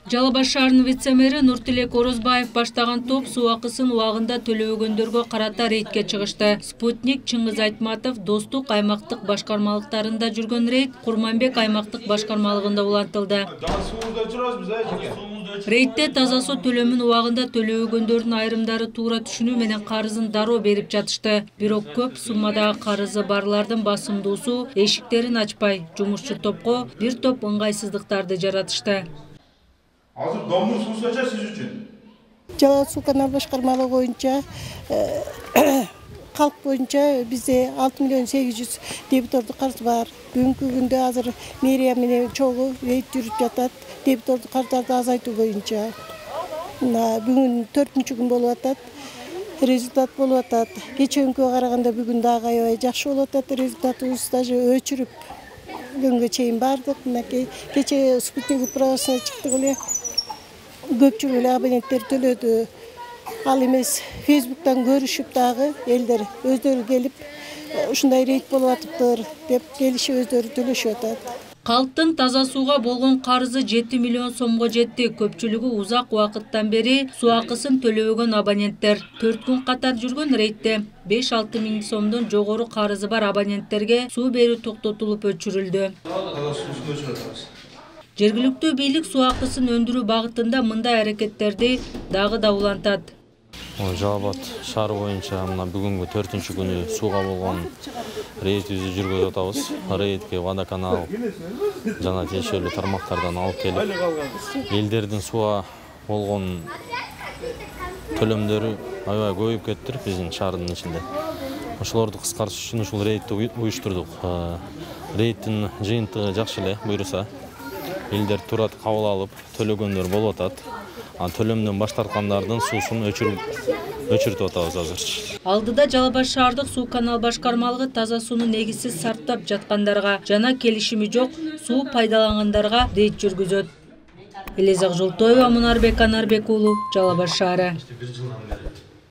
Жалал Абад шаарынын вице-мэри Нуртилек Орозбаев баштаган топ суу акысын убагында төлөбөгөндөргө карата рейдке чыгышты. Спутник Чыңгыз Айтматов Достук аймактык башкармалыктарында жүргөн рейд Курманбек аймактык башкармалыгында улантылды. Рейдте таза суу төлөмүн убагында төлөбөгөндөрдүн айрымдары туура түшүнүү менен карызын дароо берип жатышты. Бирок көп суммадагы карызы барлардын басымдуусу эшиктерин ачпай, жумушчу топко бир топ ыңгайсыздыктарды жаратышты. Азыр домдук суу канча сиз үчүн? Жалал суу канал башкармалыгы боюнча калк боюнча бизде 6.800.000 дебитордук карыз бар. Бүгүнкү күндө азыр мэрия менен чогуу рейд жүрүп жатат. Дебитордук карыздарды азайтуу боюнча. Бүгүн 4-күн болуп атат. Результат болуп атат. Кечээкүнгө караганда бүгүн дагы аябай жакшы болуп атат. Результатыбыз даже өчүрүп күнгө чейин бардык. Мынакей кечээ спутник управасына чыктык эле. Көпчүлүк эле абоненттер төлөдү. Ал эмес Facebook'тан көрүшүп дагы элдер өздөрү келип ушундай рейд болуп атыптыр деп келишип өздөрү төлөшүп атат. Калктын таза сууга болгон карызы 7 миллион сомго жетти. Көпчүлүгү узак убакыттан бери суу акысын төлөбөгөн абоненттер. 4 күн катар жүргөн рейдте 5-6 миң сомдон жогору карызы бар абоненттерге суу берүү токтотулуп өчүрүлдү. Жергиликтүү бийлик суу акысын өндүрүү багытында мындай аракеттерди дагы да улантат. Жалал Абад шаары боюнча мына бүгүнкү 4-күнү сууга болгон рейдибизди жүргүзүп атабыз. Рейдке водоканал жана тиешелүү тармактардан алып келип, элдердин сууга болгон төлөмдөрү аябай көбөйүп кетти биздин шаардын ичинде. Ошолорду кыскартыш үчүн ушул рейдти уюштурдук. Рейдтин жыйынтыгы жакшы эле буюрса. Элдер туура кабыл алып, төлөгөндөр болуп атат. Төлөмдөн баш тарткандардын суусун өчүртүп атабыз азырчы. Алдыда Жалал Абад шаардык суу канал башкармалыгы таза сууну негизсиз сарптап жаткандарга жана келишими жок суу пайдалангандарга рейд жүргүзөт. Элизак Жолтоева, Мунарбек Анарбек уулу, Жалал Абад шаары.